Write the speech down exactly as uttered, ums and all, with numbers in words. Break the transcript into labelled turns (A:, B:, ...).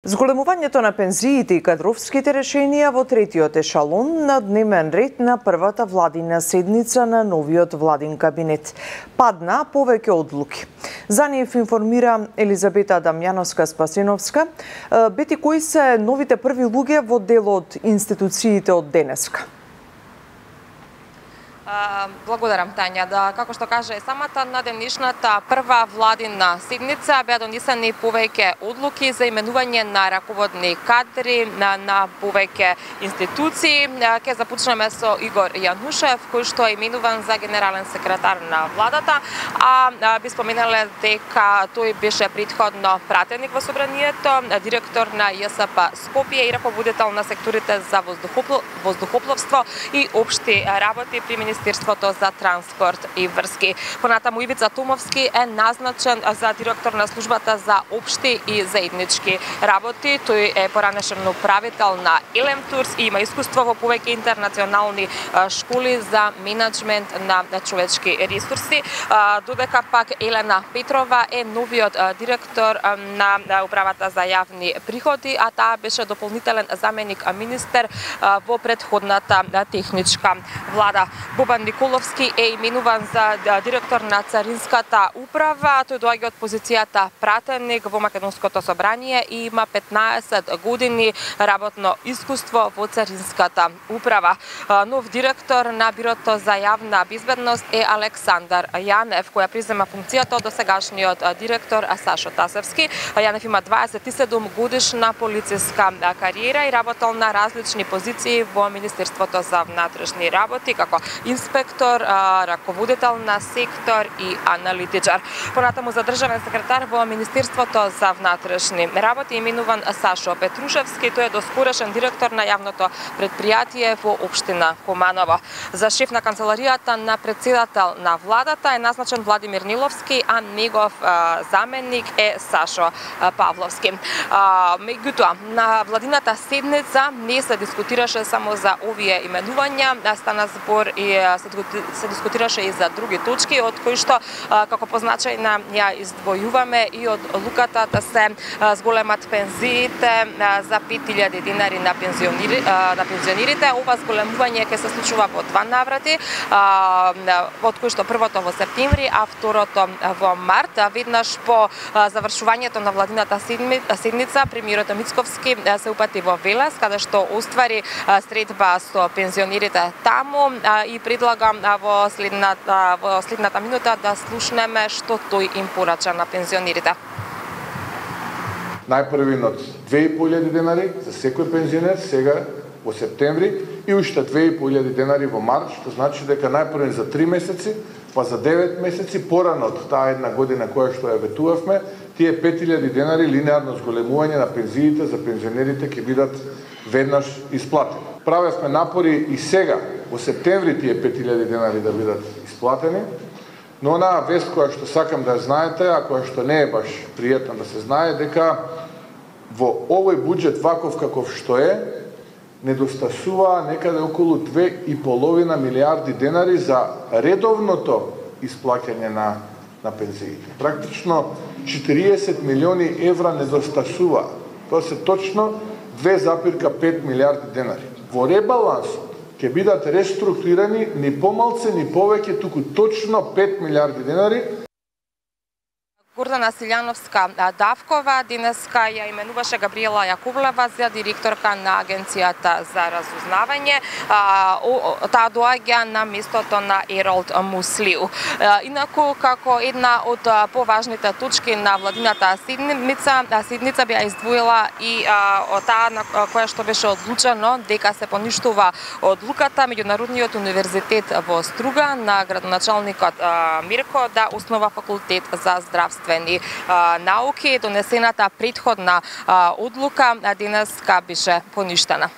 A: Зголемувањето на пензиите и кадровските решенија во третиот ешалон на дневен ред на првата владина седница на новиот владин кабинет. Падна повеќе одлуки. За нив информира Елизабета Дамјановска-Спасеновска. Бети, кои се новите први луѓе во дел од институциите од денеска?
B: Благодарам, Тања. Да, како што каже самата на денешната прва владина седница беа донесени повеќе одлуки за именување на раководни кадри на, на повеќе институции. Ке започнеме со Игор Јанушев, кој што е именуван за генерален секретар на владата, а би споменале дека тој беше претходно пратеник во собранието, директор на ЈСП Скопје и раководител на секторите за воздухопловство и општи работи при Министерството за транспорт и врски. Понатаму Ивица Томовски е назначен за директор на службата за општи и заеднички работи. Тој е поранешен управител на Елем Турс и има искуство во повеќе интернационални школи за менеджмент на човечки ресурси. Додека пак Елена Петрова е новиот директор на управата за јавни приходи, а таа беше дополнителен заменик министер во претходната техничка влада. Бобан Николовски е именуван за директор на Царинската управа. Тој доаѓа од позицијата пратеник во Македонското собрание и има петнаесет години работно искуство во Царинската управа. Нов директор на Бирото за јавна безбедност е Александар Јанев, која презема функцијата од досегашниот директор Сашо Тасевски. Јанев има дваесет и седум годишна полициска кариера и работел на различни позиции во Министерството за внатрешни работи, како инспектор, раководител на сектор и аналитичар. Понатаму за државен секретар во Министерството за внатрешни работи именуван Сашо Петрушевски, тој е доскорешен директор на јавното предпријатие во општина Куманово. За шеф на канцеларијата на председател на владата е назначен Владимир Ниловски, а негов а, заменик е Сашо а, Павловски. А, меѓутоа, на владината седница не се дискутираше само за овие именувања, стана збор и се дискутираше и за други точки, од кои што како позначајна ја издвојуваме и од луката да се зголемат пензиите за пет илјади динари на пензионери, на пензионерите. Ова зголемување ќе се случува во два наврати, од кои што првото во септември, а второто во март. Веднаш по завршувањето на владината седница, премиерот Мицковски се упати во Велес, каде што оствари средба со пензионерите таму и предлагам во следната, во следната минута да слушнеме што тој им порача на пензионерите.
C: Најпрвинот две и по илјади денари за секој пензионер сега во септември и уште две и по илјади денари во март, што значи дека најпрвен за три месеци, па за девет месеци порано од таа една година која што ја ветувавме, тие пет илјади денари линеарно зголемување на пензиите за пензионерите ќе бидат веднаш исплатени. Правевме напори и сега во септември тие пет илјади денари да бидат исплатени, но онаа вест која што сакам да ја знаете, а која што не е баш пријатна да се знае, дека во овој буџет ваков каков што е, недостасува некаде околу две и половина милијарди денари за редовното исплаќање на, на пензиите. Практично четириесет милиони евра недостасува. Тоа се точно две запирка пет милијарди денари. Во ребалансот ќе бидат реструктурирани ни помалце, ни повеќе, туку точно пет милијарди денари.
B: Гордана Силјановска Давкова денеска ја именуваше Габриела Јаковлева за директорка на Агенцијата за разузнавање. Таа доаѓа на местото на Еролд Муслиу. Инаку, како една од поважните точки на владината седница, седница беа издвоила и таа на која што беше одлучено дека се поништува одлуката Меѓународниот универзитет во Струга на градоначалникот Мирко да основа факултет за здравство науки. Донесената претходна одлука денеска беше поништена.